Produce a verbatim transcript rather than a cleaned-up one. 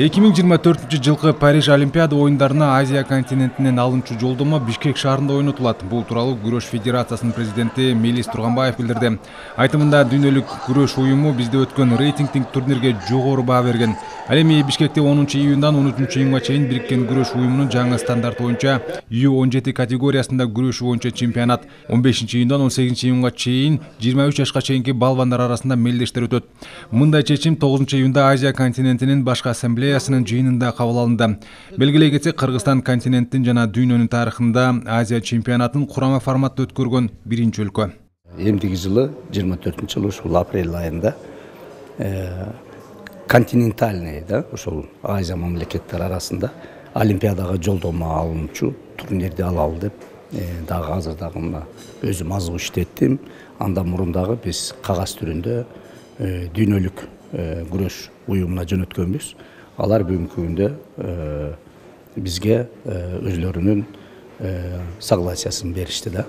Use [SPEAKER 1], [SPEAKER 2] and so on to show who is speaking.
[SPEAKER 1] эки миң жыйырма төртүнчү жылкы Париж Олимпиада оюндарына Азия континентинен алынчу жолдомо Бишкек шаарында ойнотулат. Бул тууралуу Күрөш Федерациясынын президенти Мелис Турганбаев билдирди. Айтымында дүйнөлүк күрөш уюму бизде өткөн рейтингдик турнирге жогору баа берген. Ал эми Бишкекте онунчу июндан он үчүнчү июнга чейин Бириккен күрөш уюмунун жаңы стандарт боюнча ю он жети категориясында күрөшүү боюнча чемпионат, он бешинчи июндан он сегизинчи июнга чейин жыйырма үч жашка чейинки балбандар арасында мелдештер өтөт. Мындай чечим тогузунчу июнда Азия континентинин башкы ассамблеясынын жыйынында кабыл алынды. Белгилей кетсек, Кыргызстан континенттин жана дүйнөнүн тарыхында Азия чемпионатын курама форматта өткөргөн биринчи өлкө.
[SPEAKER 2] Эмдиги жылы жыйырма төртүнчү жылы ушул апрель айында континентальный да ошол Азия мамлекеттери арасында Олимпиадага жолдомо алынчу турнирди алалы деп дагы азыр дагы мына өзүм азыр иштеттим. Андан мурун дагы биз кагаз түрүндө дүйнөлүк күрөш уюмуна жөнөткөнбүз. Алар бүгүнкү күндө бизге өзлөрүнүн согласиясын беришти да.